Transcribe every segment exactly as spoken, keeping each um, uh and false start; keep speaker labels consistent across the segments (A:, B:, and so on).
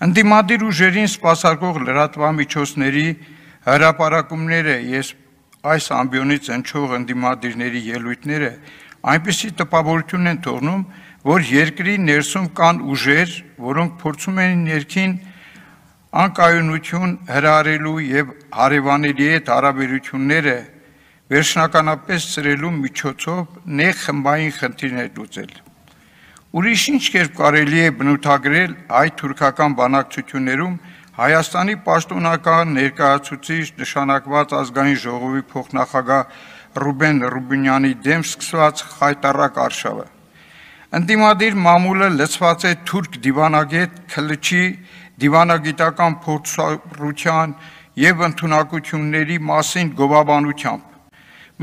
A: Ընդդիմադիր ուժերին սպասարկող լրատվամիջոցների հրապարակումները ես այս ամբիոնից հնչող ընդդիմադիրների ելույթները այնպիսի տպավորություն են թողնում, որ երկրի ներսում կան ուժեր, որոնք փորձում են ներքին անկայունություն հրահրելու եւ հարևանների հետ հարաբերությունները վերջնականապես սրելու միջոցով նեղ խմբային խնդիրներ լուծել։ Ուրիշ ինչ կերպ կարելի է բնութագրել հայ-թուրքական բանակցություններում Հայաստանի պաշտոնական ներկայացուցիչ նշանակված ազգային ժողովի փոխնախագահ Ռուբեն Ռուբինյանի դեմ սկսված խայտառակ արշավը։ Ընդդիմադիր մամուլը լցված է թուրք դիվանագետ Քլիչի դիվանագիտական փորձառության եւ ընդունակությունների մասին գովաբանությամբ։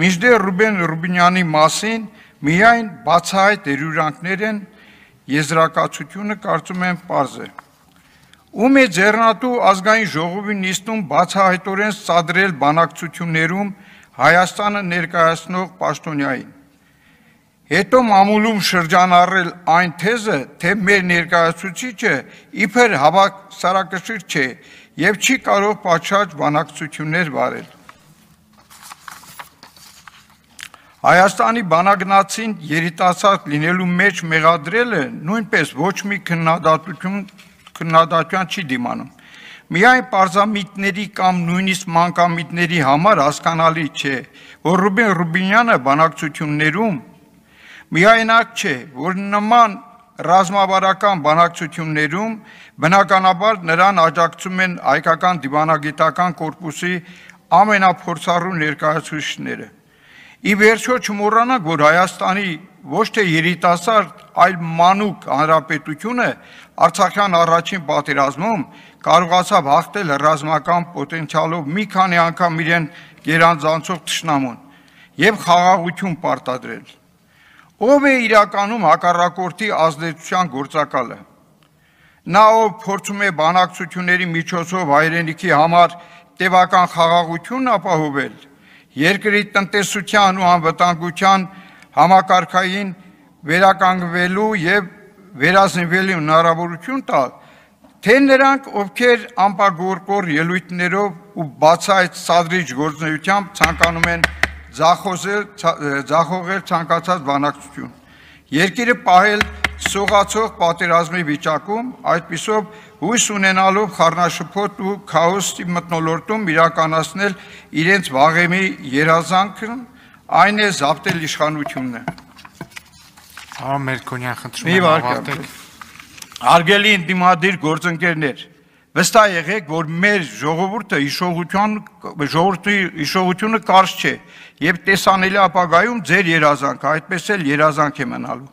A: Մինչդեռ Ռուբեն Ռուբինյանի մասին միայն բացահայտ դերյուրանքներ են, եզրակացությունը կարծում եմ պարզ է։ Ում է ձեռնատու ազգային ժողովի նիստում բացահայտորեն սադրել բանակցություններում Հայաստանը ներկայացնող պաշտոնյային։ Հետո մամուլում շրջանառել այն թեզը, թե մեր ներկայացուցիչը իբր հավասարակշիռ չէ եւ չի կարող պատշաճ բանակցություններ վարել։ Հայաստանի բանագնացին երիտասարդ լինելու մեջ մեղադրելը նույնպես ոչ մի քննադատություն քննադատության չի դիմանում։ Միայն պարզամիտների կամ նույնիսկ մանկամիտների համար հասկանալի չէ, որ Ռուբեն Ռուբինյանը բանակցություններում միայնակ չէ, որ նման ռազմավարական բանակցություններում բնականաբար նրան աջակցում են հայկական դիվանագիտական կորպուսի ամենափորձառու ներկայացուցիչները։ Ի վերջո չմոռանանք, որ Հայաստանի ոչ թե երիտասարդ, այլ մանուկ հանրապետությունը Արցախյան առաջին պատերազմում կարողացավ հաղթել ռազմական պոտենցիալով մի քանի անգամ իրեն գերանձանցող թշնամուն եւ խաղաղություն պարտադրել։ Ով է իրականում հակառակորդի ազդեցության գործակալը։ Նա ով փորձում է բանակցությունների միջոցով հայրենիքի համար տևական խաղաղություն ապահովել, երկրի տնտեսության ու անվտանգության համակարգային վերականգնվելու եւ վերազինվելու հնարավորություն տալ, թե նրանք, ովքեր անպագորկոր ելույթներով ու բացահայտ սադրիչ գործունեությամբ ցանկանում են ձախողել ցանկացած բանակցություն, երկիրը պահել սողացող պատերազմի վիճակում, այդպիսով հույս ունենալով խառնաշփոթ ու քաոսի մթնոլորտում իրականացնել իրենց վաղեմի երազանքն, այն է զավթել իշխանությունը։
B: Ահա Մերկոնյան խնդրում եմ ավարտել։
A: Հարգելի ընդդիմադիր գործընկերներ, վստահ եղեք, որ մեր ժողովուրդը հիշողության ժողովրդի հիշողությունը կարճ չէ եւ տեսանելի ապագայում ձեր երազանքը այդպես էլ երազանք է մնալու։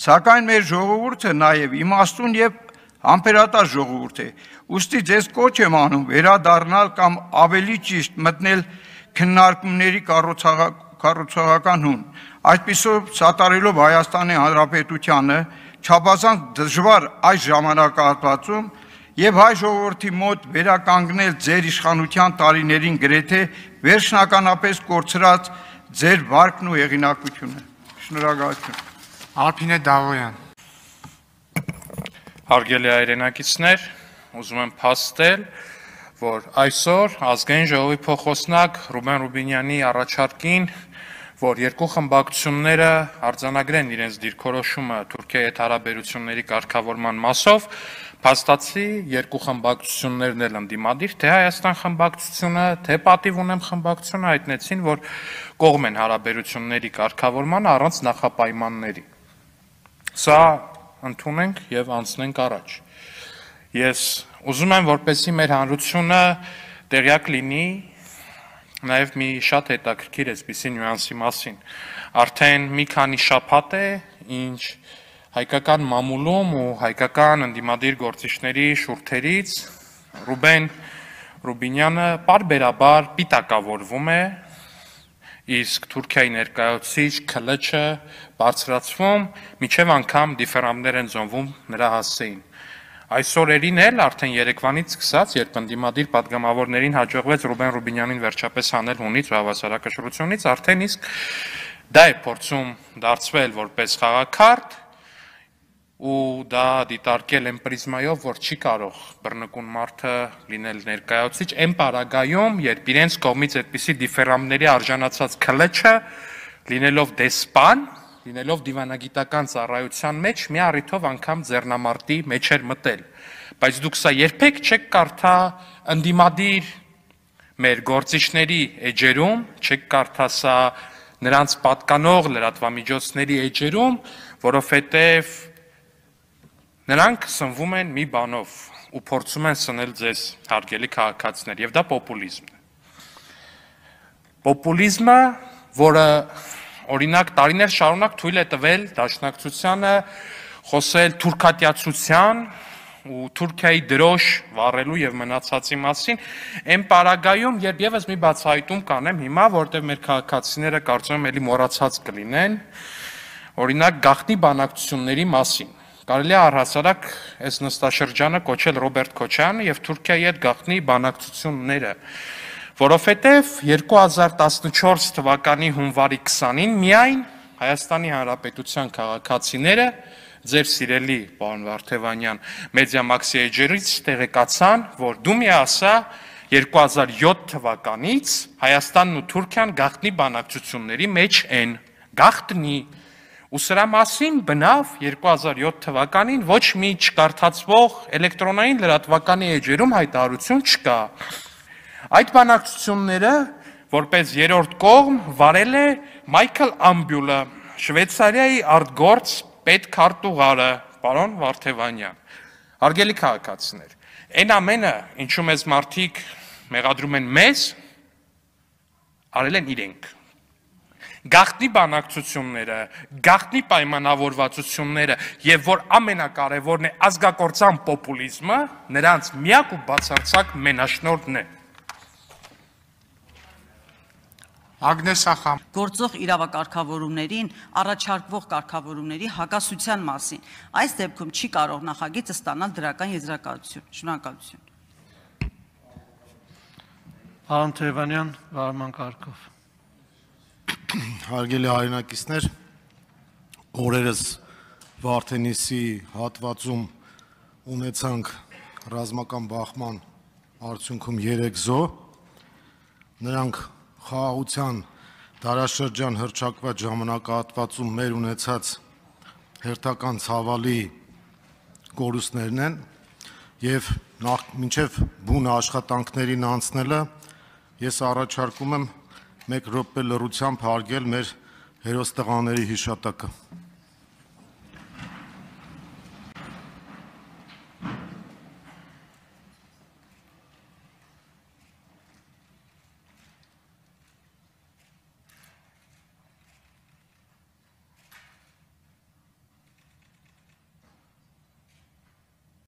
A: Սակայն մեր ժողովուրդը նաեւ իմաստուն եւ համբերատար ժողովուրդ է։ Ուստի ձեզ կոչ եմ անում վերադառնալ կամ ավելի ճիշտ մտնել քննարկումների կառուցողական հուն։ Այդպիսով սատարելով Հայաստանի Հանրապետությանը չափազանց դժվար այս ժամանակահատվածում եւ հայ ժողովրդի մոտ վերականգնել ձեր իշխանության տարիներին գրեթե վերջնականապես կորցրած ձեր վարկն ու հեղինակությունը։ Շնորհակալություն։
B: Արփինե Դավոյան։
C: Հարգելի հայրենակիցներ, ուզում եմ փաստել, որ այսօր ազգային ժողովի փոխոսնակ Ռուբեն Ռուբինյանի առաջարկին, որ երկու խմբակցությունները արձանագրեն իրենց դիրքորոշումը Թուրքիայի հետ հարաբերությունների կարգավորման մասով, փաստացի երկու խմբակցություններն էլ ընդդիմադիր, թե Հայաստան խմբակցությունը, թե Պատիվ ունեմ խմբակցությունը հայտնեցին, որ կողմ են հարաբերությունների կարգավորման առանց նախապայմանների։ Սա ընդունենք եւ անցնենք առաջ։ Ես ուզում եմ, որպեսզի մեր հանրությունը տեղյակ լինի նաեւ մի շատ հետաքրքիր էսպիսի նյուանսի մասին։ Արդեն մի քանի շաբաթ է, ինչ հայկական մամուլում ու հայկական ընդդիմադիր գործիչների շուրթերից Ռուբեն Ռուբինյանը պարբերաբար պիտակավորվում է, իսկ Թուրքիայի ներկայացուցիչ Քլիչը բարձրացվում, միջև անգամ դիֆերամներ են զոնվում նրա հասցեին։ Այս օրերին էլ արդեն երեկվանից սկսած, երբ ընդդիմադիր պատգամավորներին հաջողվեց Ռուբեն Ռուբինյանին վերջապես հանել հունից ու հավասարակշռությունից, արդեն իսկ դա է փորձում դարձվել որպես խաղաքարտ ու դա դիտարկել են պրիզմայով, որ չի կարող բռնկուն մարդը լինել ներկայացուցիչ, այն պարագայում, երբ իրենց կողմից այդպիսի դիֆերամների արժանացած քլեչը լինելով դեսպան, լինելով դիվանագիտական ծառայության մեջ, մի առիթով անգամ ձեռնամարտի մեջ էր մտել։ Բայց դուք սա երբեք չեք կարդա ընդդիմադիր մեր գործիչների էջերում, չեք կարդա սա նրանց պատկանող լրատվամիջոցների էջերում, որովհետև նրանք սնվում են մի բանով ու փորձում են սնել ձեզ հարգելի քաղաքացիներ, եւ դա պոպուլիզմն է։ Պոպուլիզմը, որը օրինակ տարիներ շարունակ թույլ է տվել դաշնակցությանը խոսել թուրքատյացության ու Թուրքիայի դրոշ վառելու եւ մնացածի մասին, այն պարագայում, երբ եւս մի բացահայտում կանեմ հիմա, որտեղ մեր քաղաքացիները կարծում եմ էլի մոռացած կլինեն, օրինակ գաղտնի բանակցությունների մասին։ Կարելի է առհասարակ այս նստաշրջանը կոչել Ռոբերտ Քոչարյանը եւ Թուրքիայի հետ գաղտնի բանակցությունները, որովհետեւ երկու հազար տասնչորս թվականի հունվարի քսանին միայն Հայաստանի Հանրապետության քաղաքացիները ձեր սիրելի պարոն Վարդևանյան Մեդիամաքսի էջերից տեղեկացան, որ դու մի ասա երկու հազար յոթ թվականից Հայաստանն ու Թուրքիան գաղտնի բանակցությունների մեջ են, գաղտնի, ու սրա մասին բնավ երկու հազար յոթ թվականին ոչ մի չկարդացվող էլեկտրոնային լրատվականի էջերում հայտարարություն չկա։ Այդ բանակցությունները որպես երրորդ կողմ վարել է Մայքլ Ամբյուլը, Շվեյցարիայի արտգործ պետքարտուղարը, պարոն Վարդևանյան։ Հարգելի քաղաքացիներ, այն ամենը, ինչու մեզ մարդիկ մեղադրում են մեզ, արել են իրենք։ Գաղտնի բանակցությունները, գաղտնի պայմանավորվածությունները եւ որ ամենակարևորն է ազգակործան պոպուլիզմը, նրանց միակ ու բացարձակ մենաշնորհն է։
B: Ագնես Ախամ,
D: գործող իրավակարգավորումներին առաջարկվող կարգավորումների հակասության մասին։ Այս դեպքում չի կարող նախագիծը ստանալ դրական եզրակացություն։ Շնորհակալություն։
E: Պարոն Թևանյան, վարման կարգով։
F: Հարգելի հայրենակիցներ, օրերս Վարդենիսի հատվածում ունեցանք ռազմական բախման արդյունքում երեք զոհ, նրանք խաղաղության դարաշրջան հռչակված ժամանակահատվածում մեր ունեցած հերթական ցավալի կորուստներն են եւ նախ մինչեւ բուն աշխատանքներին անցնելը ես առաջարկում եմ մեկ րոպե լռությամբ հարգել մեր հերոս տղաների հիշատակը։